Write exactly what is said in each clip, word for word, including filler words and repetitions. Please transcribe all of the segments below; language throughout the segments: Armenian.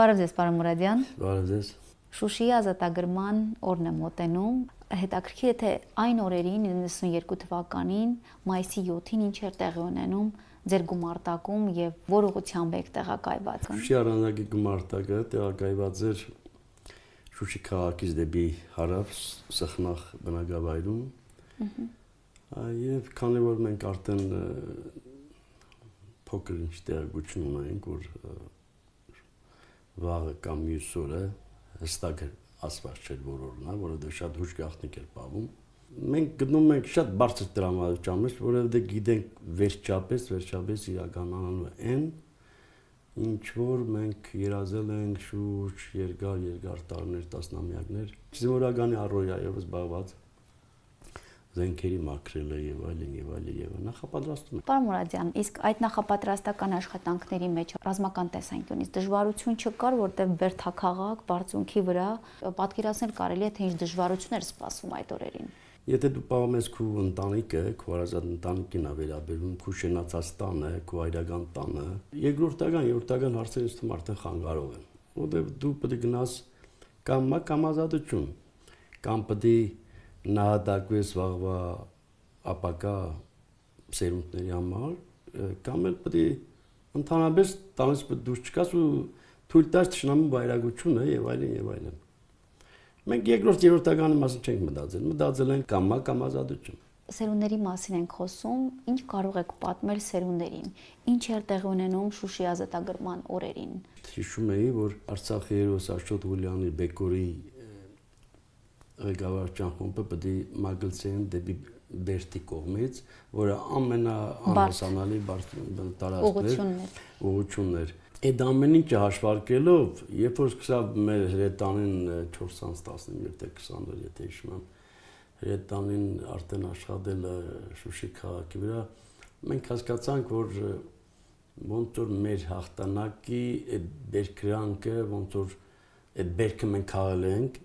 Բարև ձեզ, պարոն Մուրադյան։ Բարև ձեզ։ Շուշիի ազատագրման օրն է մոտենում։ Հետաքրքիր է, թե այն օրերին իննսունյերկու թվականին մայիսի յոթին ինչ էր տեղի ունենում ձեր գումարտակում եւ որ ուղղությամբ եք տեղակայված։ Շուշի առանձնակի գումարտակը տեղակայված էր Շուշի քաղաքից դեպի հարավ Սխնախ բնակավայրում։ Եվ քանի որ մենք արդեն փոքր ինչ տեղեկություն ունենք, որ վաղը կամ մյուս օրը հստակ ասված չէր որ օրն է, որովհետև շատ հուշ գաղտնիք էր պահվում։ Մենք գտնում ենք շատ բարձր տրամադրության մեջ, որովհետև գիտենք վերջապես, վերջապես իրականանալու է այն, ինչ որ մենք երազել ենք շուրջ երկար, երկար տարիներ, տասնամյակներ, զինվորականի առօրյայով զբաղված զենքերի մաքրելը եւ այլն եւ այլն եւ նախապատրաստում է։ Պարոն Մուրադյան, իսկ այդ նախապատրաստական աշխատանքների մեջ ռազմական տեսանկյունից դժվարություն չկար, որտեղ Բերթաքաղաք, բարձունքի վրա պատկերացնել կարելի է թե ինչ դժվարություն էր սպասվում այդ օրերին։ Եթե դու պահում ես քո ընտանիքը, քո հարազատ ընտանիքին ա վերաբերում, քո շենացած տանը, քո այրական տանը, երկրորդական, երրորդական հարցերից թվում արդեն խանգարող են, որտեղ դու պետք է գնաս կամ կամ ազատություն, կամ պետք է նահատակվես վաղվա ապակա սերունդների համար, կամ էլ պետք է ընդհանրապես տանից պետք դուրս չգաս ու թույլ տաս թշնամու վայրագությունը եւ այլն եւ այլն։ Մենք երկրորդ երրորդականի մասին չենք մտածել, մտածել ենք կամ կամ ազատություն։ Սերունդների մասին ենք խոսում, ինչ կարող եք պատմել սերունդերին, ինչ էր տեղի ունենում Շուշի ազատագրման օրերին։ Հիշում էի, որ Արցախի հերոս Աշոտ Ղուլյանի Բեկորի ղեկավարության խումբը պետք է մագլցեին դեպի Բերթի կողմից, որը ամենաանհասանալի տարածքն էր, ուղղությունն էր։ Այդ ամեն ինչը հաշվարկելով, երբ որ սկսավ մեր հրետանին չորս տասնինը թե քսան, եթե հիշում եմ, հրետանին արդեն աշխատել Շուշի քաղաքի վրա, մենք հասկացանք, որ ոնց որ մեր հաղթանակի այդ բերկրանքը, ոնց որ այդ բերքը մենք քաղել ենք,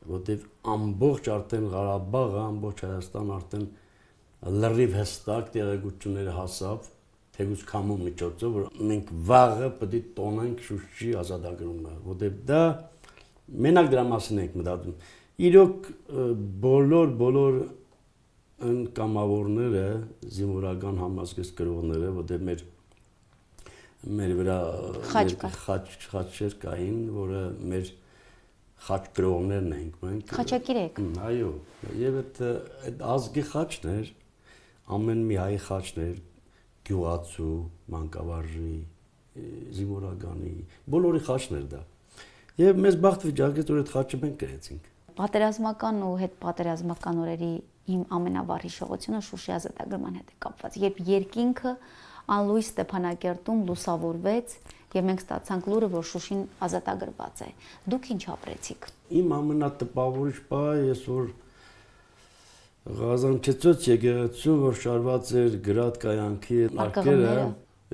որտեղ ամբողջ արդեն Ղարաբաղը, ամբողջ Հայաստան արդեն լրիվ հստակ տեղեկությունները հասավ, թեկուզ քամու միջոցով, որ մենք վաղը պետք է տոնենք Շուշի ազատագրումը, որտեղ դա մենակ դրա մասին ենք մտածում։ Իրոք բոլոր բոլոր կամավորները, զինվորական համազգեստ կրողները, որտեղ մեր մեր վրա խաչեր կային, որը մեր խաչ կրողներն ենք մենք։ Խաչակիր եք։ Այո, եւ այդ այդ ազգի խաչն էր, ամեն մի հայ խաչն էր, գյուղացու, մանկավարժի, զինվորականի, բոլորի խաչն էր դա։ Եվ մեզ բախտ վիճակեց, որ այդ խաչը մենք կրեցինք։ Պատերազմական ու հետ պատերազմական օրերի իմ ամենավառ հիշողությունը Շուշի ազատագրման հետ է կապված, երբ երկինքը անլույս Ստեփանակերտում լուսավորվեց եւ մենք ստացանք լուրը, որ Շուշին ազատագրված է։ Դուք ինչ ապրեցիք։ Իմ ամենատպավորիչ բանը ես որ Ղազանչեցոց եկեղեցու, որ շարված էր գրադ կայանքի արկերը,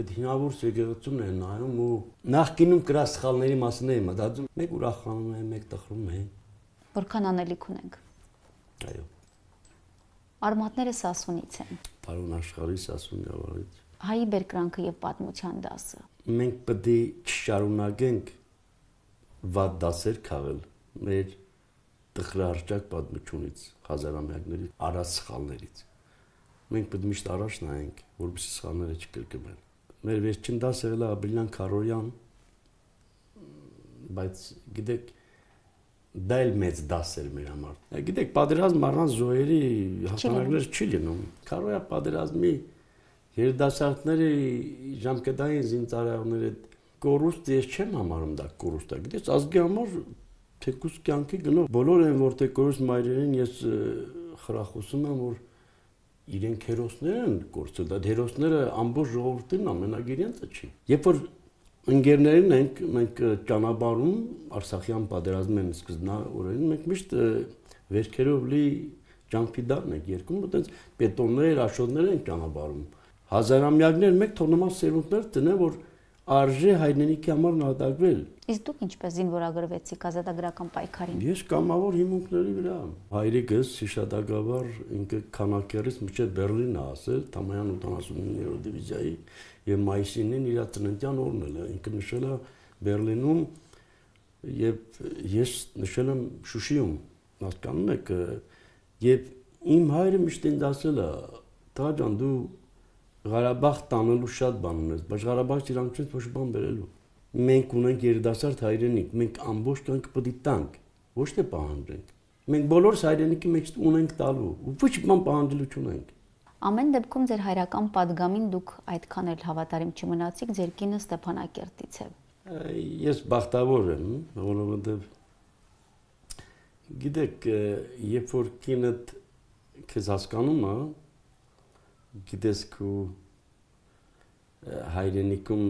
այդ հինավուրց եկեղեցումն են նայում ու նախկինում կրած սխալների մասին էի մտածում, մեկ ուրախանում է, մեկ տխրում է։ Որքան անելիք ունենք։ Այո։ Արմատները Սասունից են։ Պարոն Աշխարհի Սասուն գավառից։ Հայի բերկրանքը եւ պատմության դասը։ Մենք պետք է չշարունակենք վատ դասեր քաղել մեր տխրահարճակ պատմությունից, հազարամյակների արած սխալներից։ Մենք պետք է միշտ առաջ նայենք, որպեսզի սխալները չկրկնվեն։ Մեր վերջին դասը եղել է Աբրիլյան Քարոյան, բայց գիտեք, դա էլ մեծ դաս էր մեր համար։ Գիտեք, պատերազմ առանց զոհերի հաղթանակներ չի լինում։ Քարոյա պատերազմի երիտասարդների ժամկետային զինծառայողների կորուստը ես չեմ համարում դա կորուստ է։ Գիտես, ազգի համար թեկուզ կյանքի գնով բոլոր են որտեղ կորուստ մայրերին ես խրախուսում եմ, որ իրենք հերոսներ են կորցրել, դա հերոսները ամբողջ ժողովրդին ամենագ իրենցը չի։ Երբ որ ընկերներին ենք մենք ճանապարհում Արցախյան պատերազմեն սկզբնավորին մենք միշտ վերքերով լի ջանքիդարն ենք երկում, այտենց բետոններ, աշոտներ են ճանապարհում։ Հազարամյակներ մեկ թողնոմաս սերունդներ տնեն, որ արժե հայրենիքի համար նահատակվել։ Իսկ դուք ինչպես զինվորագրվեցիք ազատագրական պայքարին։ Ես կամավոր հիմունքների վրա։ Հայրիկս հիշատակաբար ինքը քանակերից մինչև Բերլին է ասել, Թամայան ութանասունիններորդ դիվիզիայի եւ մայիսին իր ծննդյան օրն էլ ինքը նշել է Բերլինում եւ ես նշել եմ Շուշիում, հասկանում եք, եւ իմ հայրը միշտ ինձ ասել է, «Տղաջան, դու Ղարաբաղ տանելու շատ բան ունես, բայց Ղարաբաղից իրանք չես ոչ բան բերելու։ Մենք ունենք երիտասարդ հայրենիք, մենք ամբողջ կյանքը պետք է տանք, ոչ թե պահանջենք։ Մենք բոլորս հայրենիքի մեջ ունենք տալու, ու ոչ բան պահանջելու չունենք»։ Ամեն դեպքում ձեր հայրական падգամին դուք այդքան էլ հավատարիմ չմնացիք, ձեր կինը Ստեփանակերտից է։ Ես բախտավոր եմ, որովհետև գիտեք, երբ որ կինդ քեզ հասկանում է, գիտես քո հայրենիքում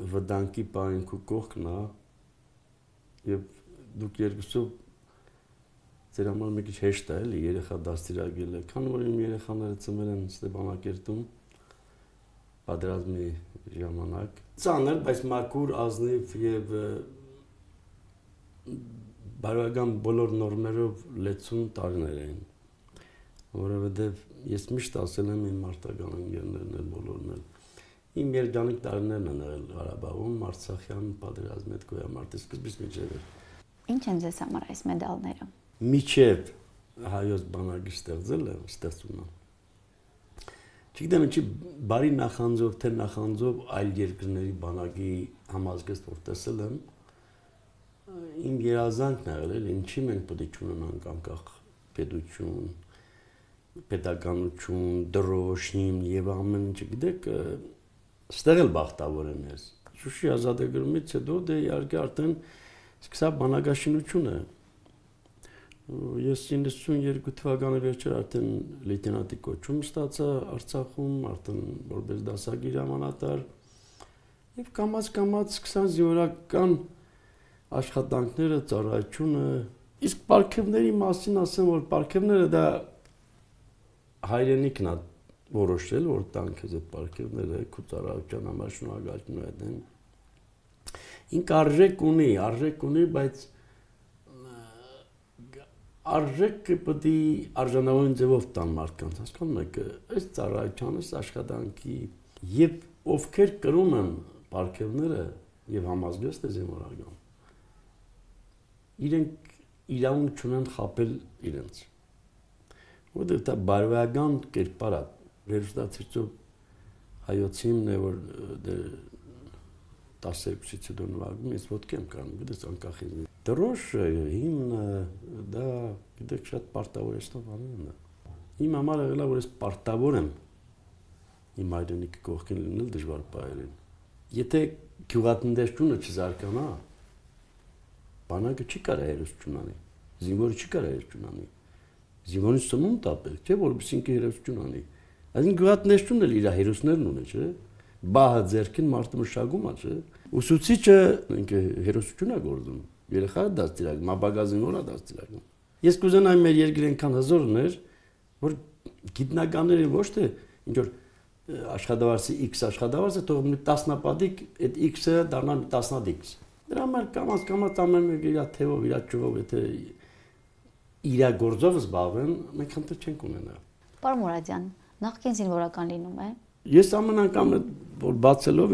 վտանգի պահին քո կողքն է, եւ դուք երկուսով ձեր համար մի քիչ հեշտ է էլի երեխա դաստիարակելը, քանի որ իմ երեխաները ծնվել են Ստեփանակերտում պատերազմի ժամանակ։ Ծանր, բայց մաքուր, ազնիվ եւ բարոյական բոլոր նորմերով լեցուն տարիներ էին, որովհետեւ ես միշտ ասել եմ իմ մարտական ընկերներն էլ բոլորն էլ, իմ երջանիկ տարիներն են եղել Ղարաբաղում, Արցախյան պատերազմի հետ գոյամարտի սկզբից մինչև։ Ինչ են ձեզ համար այս մեդալները։ Միջև հայոց բանակի ստեղծելը, ստեղծումը։ Չգիտեմ ինչի բարի նախանձով, թե նախանձով այլ երկրների բանակի համազգեստ որ տեսել եմ, իմ երազանքն է եղել, ինչի մենք պետք է ունենանք անկախ պետություն, պետականություն, դրոշ, հիմն եւ ամեն ինչ, գիտեք, ստեղ էլ բախտավոր եմ ես։ Շուշի ազատագրումից հետո դե իհարկե արդեն սկսա բանակաշինությունը։ Ես իննսունյերկու թվականի վերջեր արդեն լեյտենանտի կոչում ստացա Արցախում, արդեն որպես դասագիր հրամանատար, եւ կամաց-կամաց սկսան զինվորական աշխատանքները, ծառայությունը, իսկ պարգևների մասին ասեմ, որ պարգևները դա հայրենիքն է որոշել, որ տանք ես այդ պարգևները, քո ծառայության համար շնորհակալություն եմ։ Ինք արժեք ունի, արժեք ունի, բայց արժեքը պետք է արժանավորին ձևով տան մարդկանց, հասկանում եք, այս ծառայության, այս աշխատանքի եւ ովքեր կրում են պարգևները եւ համազգեստ է զինվորական, իրենք իրավունք չունեն խաբել իրենց։ Որտեղ դա բարոյական կերպար է, վերջնացիցով հայոցին է, որ տասներկուսից հետո նվագում, ես ոտքի եմ կանում, գիտես անկախ ինձ։ Դրոշը, հիմնը, դա գիտեք շատ պարտավոր է ստով անեն է։ Իմ համար եղել է, որ ես պարտավոր եմ իմ հայրենիքի կողքին լինել դժվար պահերին։ Եթե գյուղատնտեսությունը չզարգանա, բանակը չի կարա հերոսություն անի, զինվորը չի կարա հերոսություն անի, զինվորին սնունդ տապել, չէ, որպես ինքը հերոսություն անի։ Այսինքն գյուղատնտեսությունն էլ իր հերոսներն ունի, չէ։ Բահը ձերքին մարդը մշակում է, չէ։ Ուսուցիչը ինքը հերոսություն է գործում, երեխա դաստիարակում, ապագա զինվորը դաստիարակում։ Ես կուզենայի մեր երկրի այնքան հզորներ, որ գիտնականները ոչ թե ինչ որ աշխատավարձի X աշխատավարձը թող մի տասնապատիկ այդ X-ը դառնա տասնադիկ։ Դրա համար կամաց կամաց ամեն մեկը իր թեվով, իր ճյուղով, եթե իր գործով զբաղվեն, մենք խնդիր չենք ունենա։ Պարոն Մուրադյան, նախկին զինվորական լինում է։ Ես ամեն անգամ որ բացելով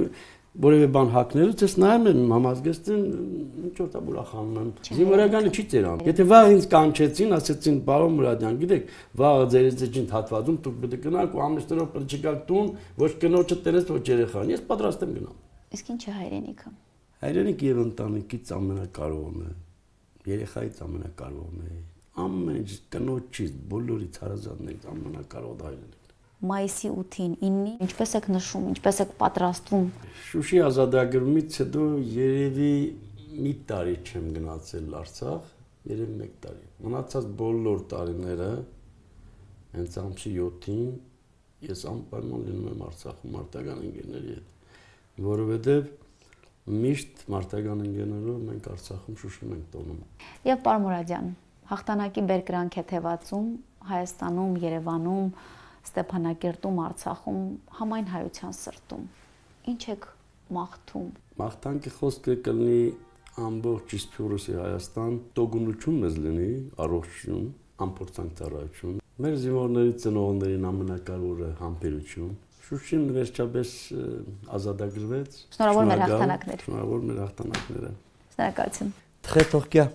որևէ բան հակնելուց ես նայում եմ համազգեստին ինչ որ տա ուրախանում եմ։ Զինվորականը չի ծերան։ Եթե վաղ ինձ կանչեցին, ասեցին պարոն Մուրադյան, գիտեք, վաղը ձեր ձեջին հատվածում դուք պետք է գնաք ու ամիսներով պետք է գաք տուն, ոչ կնոջը տերես, ոչ երեխան։ Ես պատրաստ եմ գնամ։ Իսկ ինչ է հայրենիքը։ Հայրենիքը եւ ընտանիքից ամենակարևորն է։ Երեխայից ամենակարևորն է։ Ամեն ինչ կնոջից, բոլորից հարազատներից ամենակարևորը հայրենիքն է։ Մայիսի ութին, իննին, ինչպես եք նշում, ինչպես եք պատրաստվում։ Շուշի ազատագրումից հետո երևի մի տարի չեմ գնացել Արցախ, երևի մեկ տարի։ Մնացած բոլոր տարիները հենց ամսի յոթին ես անպայման լինում եմ Արցախում մարտական ընկերների հետ, որովհետև միշտ մարտական ընկերներով մենք Արցախում Շուշիում ենք տոնում։ Եվ պարոն Մուրադյան, հաղթանակի բերկրանք է թևածում Հայաստանում, Երևանում, Ստեփանակերտում, Արցախում, համայն հայության սրտում։ Ինչ եք մաղթում։ Մաղթանքի խոսքը կլինի ամբողջ Իսպիրոսի Հայաստան, տոկունություն մեզ լինի, առողջություն, անփորձանք ծառայություն։ Մեր զինվորների ծնողներին ամենակարևորը համբերություն, Շուշին վերջապես ազատագրվեց։ Շնորհավոր մեր հաղթանակներ։ Շնորհավոր մեր հաղթանակները։ Շնորհակալություն։ Très Turquia.